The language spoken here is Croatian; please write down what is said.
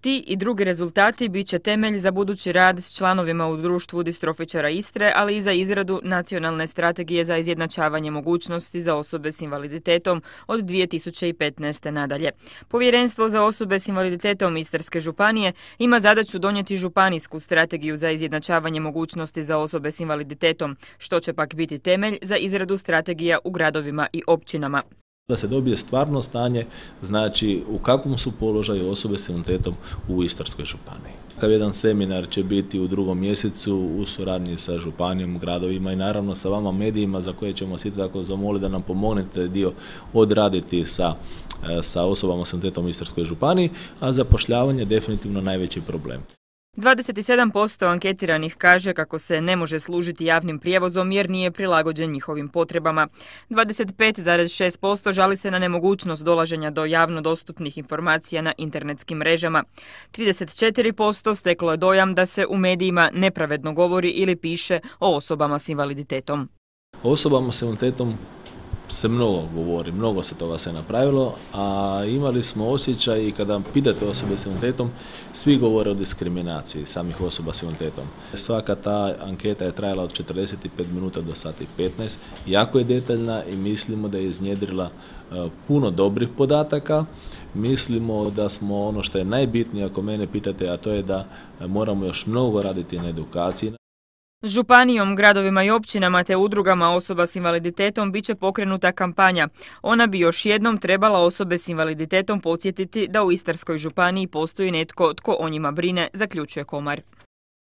Ti i drugi rezultati bit će temelj za budući rad s članovima u društvu distrofičara Istre, ali i za izradu nacionalne strategije za izjednačavanje mogućnosti za osobe s invaliditetom od 2015. nadalje. Povjerenstvo za osobe s invaliditetom Istarske županije ima zadaću donijeti županijsku strategiju za izjednačavanje mogućnosti za osobe s invaliditetom, što će pak biti temelj za izradu strategija u gradovima i općinama. Da se dobije stvarno stanje, znači u kakvom su položaju osobe s invaliditetom u Istarskoj županiji. Takav jedan seminar će biti u 2. mjesecu u suradnji sa županijom, gradovima i naravno sa vama medijima za koje ćemo svi tako zamoliti da nam pomognete dio odraditi sa osobama s invaliditetom u Istarskoj županiji, a zapošljavanje je definitivno najveći problem. 27% anketiranih kaže kako se ne može služiti javnim prijevozom jer nije prilagođen njihovim potrebama. 25,6% žali se na nemogućnost dolaženja do javno dostupnih informacija na internetskim mrežama. 34% steklo je dojam da se u medijima nepravedno govori ili piše o osobama s invaliditetom. O osobama s invaliditetom se mnogo govori, mnogo se toga se napravilo, a imali smo osjećaj i kada pitate osobe s invaliditetom, svi govore o diskriminaciji samih osoba s invaliditetom. Svaka ta anketa je trajala od 45 minuta do sati 15, jako je detaljna i mislimo da je iznjedrila puno dobrih podataka. Mislimo da smo ono što je najbitnije, ako mene pitate, a to je da moramo još mnogo raditi na edukaciji. Županijom, gradovima i općinama te udrugama osoba s invaliditetom bit će pokrenuta kampanja. Ona bi još jednom trebala osobe s invaliditetom podsjetiti da u Istarskoj županiji postoji netko tko o njima brine, zaključuje Komar.